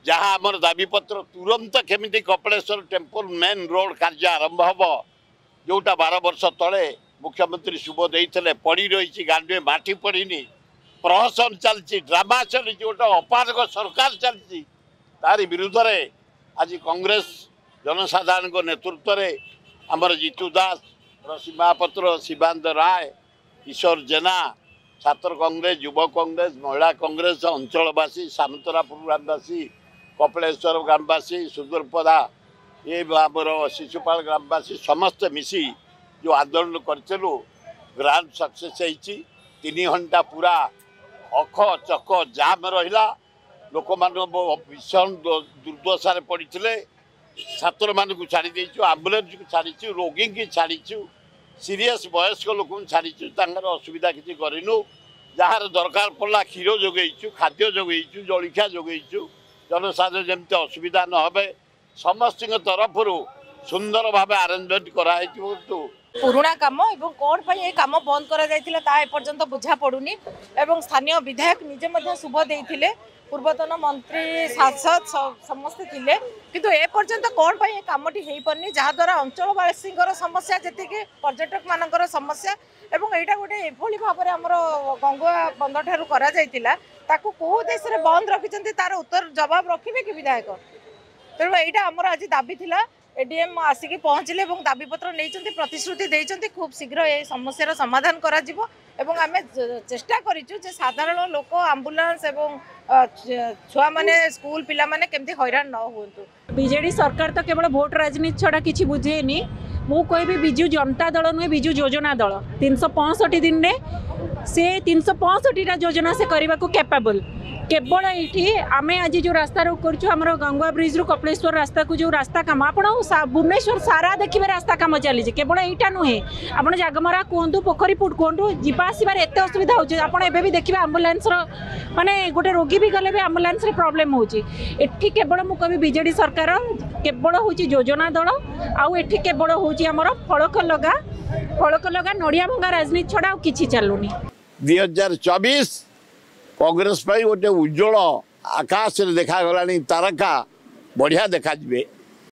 ଯାହା ଆମର ଦାବିପତ୍ର, ତୁରନ୍ତ କେମିତି କପିଳେଶ୍ୱର ଟେମ୍ପଲ ମେନ୍ ରୋଡ଼ କାର୍ଯ୍ୟ ଆରମ୍ଭ ହେବ, ଯେଉଁଟା 12 ବର୍ଷ ତଳେ ମୁଖ୍ୟମନ୍ତ୍ରୀ ଶୁଭ ଦେଇଥିଲେ, ପଡ଼ି ରହିଛି, ଗାଣ୍ଡୁଏ ମାଟି ପଡ଼ିନି। ପ୍ରହସନ ଚାଲିଛି, ଡ୍ରାମା ଚାଲିଛି, ଗୋଟେ ଅପାରଗ ସରକାର ଚାଲିଛି। ତାରି ବିରୁଦ୍ଧରେ ଆଜି କଂଗ୍ରେସ ଜନସାଧାରଣଙ୍କ ନେତୃତ୍ୱରେ ଆମର ଜିତୁ ଦାସ, ରଶ୍ମି ମହାପାତ୍ର, ଶିବାନନ୍ଦ ରାୟ, କିଶୋର ଜେନା, ଛାତ୍ର କଂଗ୍ରେସ, ଯୁବ କଂଗ୍ରେସ, ମହିଳା କଂଗ୍ରେସ, ଅଞ୍ଚଳବାସୀ, ସାମନ୍ତରାପୁର ଗ୍ରାମବାସୀ, କପିଳେଶ୍ୱର ଗ୍ରାମବାସୀ, ସୁଦୂରପଦା ଏ ଆମର ଶିଶୁପାଳ ଗ୍ରାମବାସୀ ସମସ୍ତେ ମିଶି ଯେଉଁ ଆନ୍ଦୋଳନ କରିଥିଲୁ, ଗ୍ରାଣ୍ଡ ସକ୍ସେସ୍ ହେଇଛି। 3 ଘଣ୍ଟା ପୁରା ଅଖ ଚକ ଜାମ୍ ରହିଲା। ଲୋକମାନଙ୍କ ଭୀଷଣ ଦୁର୍ଦ୍ଦଶାରେ ପଡ଼ିଥିଲେ। ଛାତ୍ରମାନଙ୍କୁ ଛାଡ଼ି ଦେଇଛୁ, ଆମ୍ବୁଲାନ୍ସକୁ ଛାଡ଼ିଛୁ, ରୋଗୀଙ୍କି ଛାଡ଼ିଛୁ, ସିରିୟସ୍ ବୟସ୍କ ଲୋକଙ୍କୁ ଛାଡ଼ିଛୁ, ତାଙ୍କର ଅସୁବିଧା କିଛି କରିନୁ। ଯାହାର ଦରକାର ପଡ଼ିଲା କ୍ଷୀର ଯୋଗେଇଛୁ, ଖାଦ୍ୟ ଯୋଗେଇଛୁ, ଜଳଖିଆ ଯୋଗେଇଛୁ, ଜନସାଧାରଣ ଯେମିତି ଅସୁବିଧା ନ ହେବେ ସମସ୍ତଙ୍କ ତରଫରୁ ସୁନ୍ଦର ଭାବେ ଆରେଞ୍ଜମେଣ୍ଟ କରାହେଇଛି। କିନ୍ତୁ ପୁରୁଣା କାମ ଏବଂ କ'ଣ ପାଇଁ ଏ କାମ ବନ୍ଦ କରାଯାଇଥିଲା ତାହା ଏପର୍ଯ୍ୟନ୍ତ ବୁଝା ପଡ଼ୁନି। ଏବଂ ସ୍ଥାନୀୟ ବିଧାୟକ ନିଜେ ମଧ୍ୟ ଶୁଭ ଦେଇଥିଲେ, ପୂର୍ବତନ ମନ୍ତ୍ରୀ, ସାଂସଦ ସମସ୍ତେ ଥିଲେ, କିନ୍ତୁ ଏପର୍ଯ୍ୟନ୍ତ କ'ଣ ପାଇଁ ଏ କାମଟି ହେଇପାରୁନି, ଯାହାଦ୍ୱାରା ଅଞ୍ଚଳବାସୀଙ୍କର ସମସ୍ୟା ଯେତିକି ପର୍ଯ୍ୟଟକମାନଙ୍କର ସମସ୍ୟା। ଏବଂ ଏଇଟା ଗୋଟେ ଏଭଳି ଭାବରେ ଆମର ଗଙ୍ଗୁଆ ବନ୍ଧଠାରୁ କରାଯାଇଥିଲା, ତାକୁ କେଉଁ ଉଦ୍ଦେଶ୍ୟରେ ବନ୍ଦ ରଖିଛନ୍ତି ତାର ଉତ୍ତର ଜବାବ ରଖିବେ କି ବିଧାୟକ? ତେଣୁ ଏଇଟା ଆମର ଆଜି ଦାବି ଥିଲା। ଏଡିଏମ୍ ଆସିକି ପହଞ୍ଚିଲେ ଏବଂ ଦାବିପତ୍ର ନେଇଛନ୍ତି, ପ୍ରତିଶ୍ରୁତି ଦେଇଛନ୍ତି ଖୁବ୍ ଶୀଘ୍ର ଏ ସମସ୍ୟାର ସମାଧାନ କରାଯିବ। ଏବଂ ଆମେ ଚେଷ୍ଟା କରିଛୁ ଯେ ସାଧାରଣ ଲୋକ, ଆମ୍ବୁଲାନ୍ସ ଏବଂ ଛୁଆମାନେ, ସ୍କୁଲ ପିଲାମାନେ କେମିତି ହଇରାଣ ନ ହୁଅନ୍ତୁ। ବିଜେଡି ସରକାର ତ କେବଳ ଭୋଟ ରାଜନୀତି ଛଡ଼ା କିଛି ବୁଝେନି। ମୁଁ କହିବି ବିଜୁ ଜନତା ଦଳ ନୁହେଁ, ବିଜୁ ଯୋଜନା ଦଳ। 365 ଦିନରେ ସେ 365ଟା ଯୋଜନା ସେ କରିବାକୁ କ୍ୟାପାବଲ୍। କେବଳ ଏଇଠି ଆମେ ଆଜି ଯେଉଁ ରାସ୍ତା ରୋକ କରୁଛୁ, ଆମର ଗଙ୍ଗୁଆ ବ୍ରିଜ୍ରୁ କପିଳେଶ୍ୱର ରାସ୍ତାକୁ ଯେଉଁ ରାସ୍ତା କାମ, ଆପଣ ଭୁବନେଶ୍ୱର ସାରା ଦେଖିବେ ରାସ୍ତା କାମ ଚାଲିଛି। କେବଳ ଏଇଟା ନୁହେଁ, ଆପଣ ଜାଗମରା କୁହନ୍ତୁ, ପୋଖରୀପୁଟ କୁହନ୍ତୁ, ଯିବା ଆସିବାରେ ଏତେ ଅସୁବିଧା ହେଉଛି। ଆପଣ ଏବେ ବି ଦେଖିବେ ଆମ୍ବୁଲାନ୍ସର, ମାନେ ଗୋଟେ ରୋଗୀ ବି ଗଲେ ବି ଆମ୍ବୁଲାନ୍ସରେ ପ୍ରୋବ୍ଲେମ୍ ହେଉଛି। ଏଠି କେବଳ ମୁଁ କହିବି ବିଜେଡ଼ି ସରକାର କେବଳ ହେଉଛି ଯୋଜନା ଦଳ। ଆଉ ଏଠି କେବଳ ହେଉଛି ଆମର ଫଳକ ଲଗା, ଫଳକ ଲଗା, ନଡ଼ିଆ ଭଙ୍ଗା ରାଜନୀତି ଛଡ଼ା ଆଉ କିଛି ଚାଲୁନି। 2024 କଂଗ୍ରେସ ପାଇଁ ଗୋଟେ ଉଜ୍ଜଳ ଆକାଶରେ ଦେଖାଗଲାଣି ତାରକା, ବଢ଼ିଆ ଦେଖାଯିବେ।